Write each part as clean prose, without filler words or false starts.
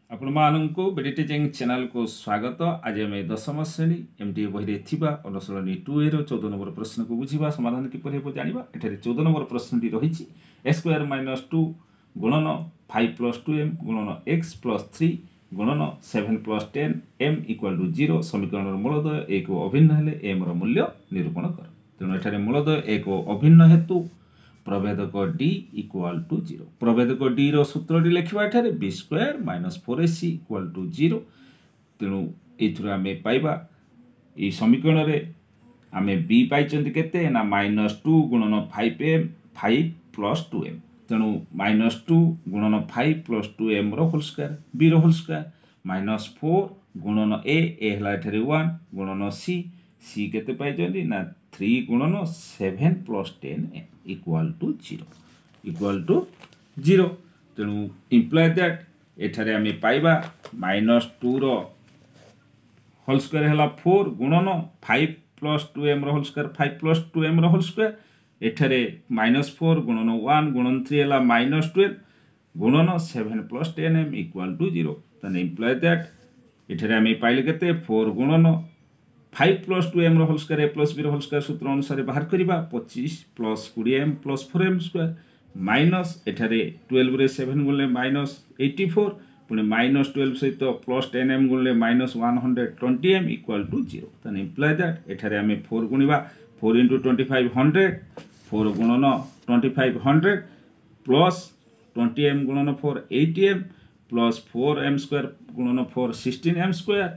ଆପଣମାନଙ୍କୁ BD teaching ଚ୍ୟାନେଲକୁ ସ୍ୱାଗତ। ଆଜି ଆମେ ଦଶମ ଶ୍ରେଣୀ ଏମ୍ ଟି ବହିରେ ଥିବା ଅନୁଶୀଳନୀ 2ଏର 14 ନମ୍ବର ପ୍ରଶ୍ନକୁ ବୁଝିବା, ସମାଧାନ କିପରି ହେବ ଜାଣିବା। ଏଠାରେ 14 ନମ୍ବର ପ୍ରଶ୍ନଟି ରହିଛି ଏକ୍ସ ସ୍କୋୟାର ମାଇନସ୍ ଟୁ ଗୁଣନ ଫାଇଭ୍ ପ୍ଲସ୍ ଟୁ ଏମ୍ ଗୁଣନ ଏକ୍ସ ପ୍ଲସ୍ ଥ୍ରୀ ଗୁଣନ seven plus 10 m equal to 0 ସମୀକରଣର ମୂଳଦ୍ୱୟ ଏକ ଓ ଅଭିନ୍ନ ହେଲେ ଏମ୍ର ମୂଲ୍ୟ ନିରୂପଣ କର। ତେଣୁ ଏଠାରେ ମୂଳଦ୍ୱୟ ଏକ ଓ ଅଭିନ୍ନ ହେତୁ ପ୍ରଭେଦକ ଡି ଇକ୍ୱାଲ୍ ଟୁ ଜିରୋ। ପ୍ରଭେଦକ ଡିର ସୂତ୍ରଟି ଲେଖିବା ଏଠାରେ b square minus 4ac equal to 0। ତେଣୁ ଏଇଥିରୁ ଆମେ ପାଇବା, ଏଇ ସମୀକରଣରେ ଆମେ ବି ପାଇଛନ୍ତି କେତେ ନା ମାଇନସ୍ ଟୁ ଗୁଣନ five m, five plus two m। ତେଣୁ ମାଇନସ୍ ଟୁ ଗୁଣନ ଫାଇଭ୍ ପ୍ଲସ୍ ଟୁ ଏମ୍ର ହୋଲ୍ ସ୍କୋୟାର, ବିର ହୋଲ୍ ସ୍କୋୟାର, ମାଇନସ୍ ଫୋର୍ ଗୁଣନ ଏ, ଏ ହେଲା ଏଠାରେ ୱାନ୍, ଗୁଣନ ସି, ସି କେତେ ପାଇଛନ୍ତି ନା ଥ୍ରୀ ଗୁଣନ seven plus 10 m equal to 0, equal to 0। ତେଣୁ ଇମ୍ପ୍ଲାଏ that ଏଠାରେ ଆମେ ପାଇବା ମାଇନସ୍ ଟୁର ହୋଲ୍ ସ୍କୋୟାର ହେଲା ଫୋର୍ ଗୁଣନ ଫାଇଭ୍ ପ୍ଲସ୍ ଟୁ ଏମ୍ର whole square, five plus two ଏମ୍ର ହୋଲ୍ ସ୍କୋୟାର। ଏଠାରେ ମାଇନସ୍ ଫୋର୍ ଗୁଣନ ୱାନ୍ ଗୁଣନ ଥ୍ରୀ ହେଲା ମାଇନସ୍ 12 ଗୁଣନ seven plus 10 m equal to 0। ତାହେଲେ ଇମ୍ପ୍ଲାଏ that ଏଠାରେ ଆମେ ପାଇଲେ କେତେ? ଫୋର୍ ଗୁଣନ ଫାଇଭ୍ ପ୍ଲସ୍ ଟୁ ଏମ୍ର ହୋଲ୍ ସ୍କୋୟାର, ଏ ପ୍ଲସ୍ ବିର ହୋଲ୍ ସ୍କୋୟାର ସୂତ୍ର ଅନୁସାରେ ବାହାର କରିବା, 25 plus 20 m plus 4 m square, minus ଏଠାରେ 12ରେ ସେଭେନ୍ ଗୁଣିଲେ ମାଇନସ୍ 84, ପୁଣି ମାଇନସ୍ 12 ସହିତ plus 10 M ଗୁଣିଲେ minus 120 m equal to 0। ତାହେଲେ ଇମ୍ପ୍ଲାଏ that ଏଠାରେ ଆମେ ଫୋର୍ ଗୁଣିବା, 4 into 25 100, 4 ଗୁଣନ 25 100, plus 20 m ଗୁଣନ 4 80 m, plus 4 m square ଗୁଣନ 4 16 M square,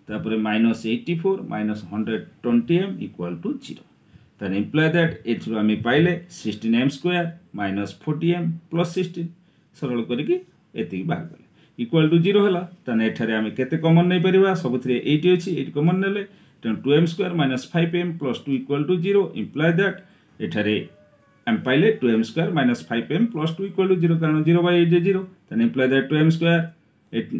ତାପରେ minus 84 minus 120 m equal to 0। ତାହେଲେ ଇମ୍ପ୍ଲାଏ that ଏଥିରୁ ଆମେ ପାଇଲେ 16 m square minus 40 m plus 16। ସରଳ କରିକି ଏତିକି ବାହାର କଲେ ଇକ୍ୱାଲ୍ ଟୁ ଜିରୋ ହେଲା। ତାହେଲେ ଏଠାରେ ଆମେ କେତେ କମନ୍ ନେଇପାରିବା? ସବୁଥିରେ ଏଇଟ୍ ଅଛି, ଏଇଟ୍ କମନ୍ ନେଲେ, ତେଣୁ 2 m square minus 5 m plus 2 equal to 0। Imply that ଏଠାରେ ଆମେ ପାଇଲେ 2 m square minus 5 m plus 2 equal to 0, କାରଣ ଜିରୋ ବାଇ ଏଇଟ୍ ଜିରୋ। ତାହେଲେ imply that 2 m square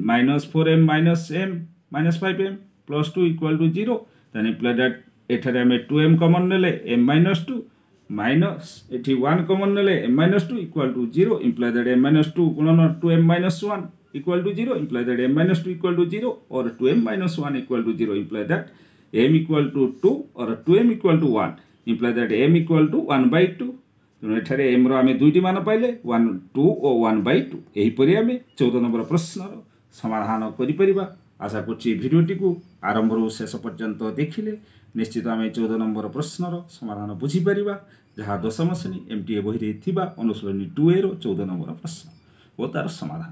minus 4 m minus m minus 5 m plus 2 equal to 0। ତାହେଲେ imply that ଏଠାରେ ଆମେ two M common ନେଲେ M minus two, minus ଏଠି one common ନେଲେ m minus 2 equal to 0। Imply that m minus 2 ଗୁଣନ 2 m minus 1 equal to 0। Imply that m minus 2 equal to 0 or 2m minus 1 equal to 0। Imply that m equal to 2 or 2m equal to 1। Imply that m equal to 1 by 2। ତେଣୁ ଏଠାରେ m ର ଆମେ ଦୁଇଟି ମାନ ପାଇଲେ, 1 2 ଓ 1 ବାଇ 2। ଏହିପରି ଆମେ 14 number ପ୍ରଶ୍ନର ସମାଧାନ କରିପାରିବା। ଆଶା କରୁଛି ଭିଡ଼ିଓଟିକୁ ଆରମ୍ଭରୁ ଶେଷ ପର୍ଯ୍ୟନ୍ତ ଦେଖିଲେ ନିଶ୍ଚିତ ଆମେ 14 ନମ୍ବର ପ୍ରଶ୍ନର ସମାଧାନ ବୁଝିପାରିବା, ଯାହା ଦଶମ ଶ୍ରେଣୀ ଏମ୍ ଟି ଏ ବହିରେ ଥିବା ଅନୁଶୀଳନୀ 2ଏର 14 ନମ୍ବର ପ୍ରଶ୍ନ ଓ ତା'ର ସମାଧାନ।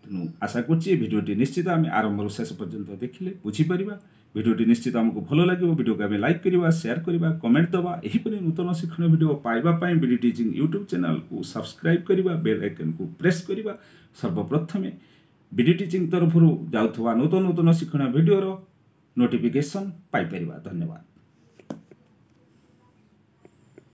ତେଣୁ ଆଶା କରୁଛି ଭିଡ଼ିଓଟି ନିଶ୍ଚିତ ଆମେ ଆରମ୍ଭରୁ ଶେଷ ପର୍ଯ୍ୟନ୍ତ ଦେଖିଲେ ବୁଝିପାରିବା। ଭିଡ଼ିଓଟି ନିଶ୍ଚିତ ଆମକୁ ଭଲ ଲାଗିବ। ଭିଡ଼ିଓକୁ ଆମେ ଲାଇକ୍ କରିବା, ସେୟାର କରିବା, କମେଣ୍ଟ ଦେବା। ଏହିପରି ନୂତନ ଶିକ୍ଷଣୀୟ ଭିଡ଼ିଓ ପାଇବା ପାଇଁ ବିଡି ଟିଚିଂ ୟୁଟ୍ୟୁବ୍ ଚ୍ୟାନେଲକୁ ସବସ୍କ୍ରାଇବ୍ କରିବା, ବେଲ୍ ଆଇକନ୍କୁ ପ୍ରେସ୍ କରିବା, ସର୍ବପ୍ରଥମେ ବିଡି ଟିଚିଂ ତରଫରୁ ଯାଉଥିବା ନୂତନ ନୂତନ ଶିକ୍ଷଣୀୟ ଭିଡ଼ିଓର ନୋଟିଫିକେସନ୍ ପାଇପାରିବା। ଧନ୍ୟବାଦ।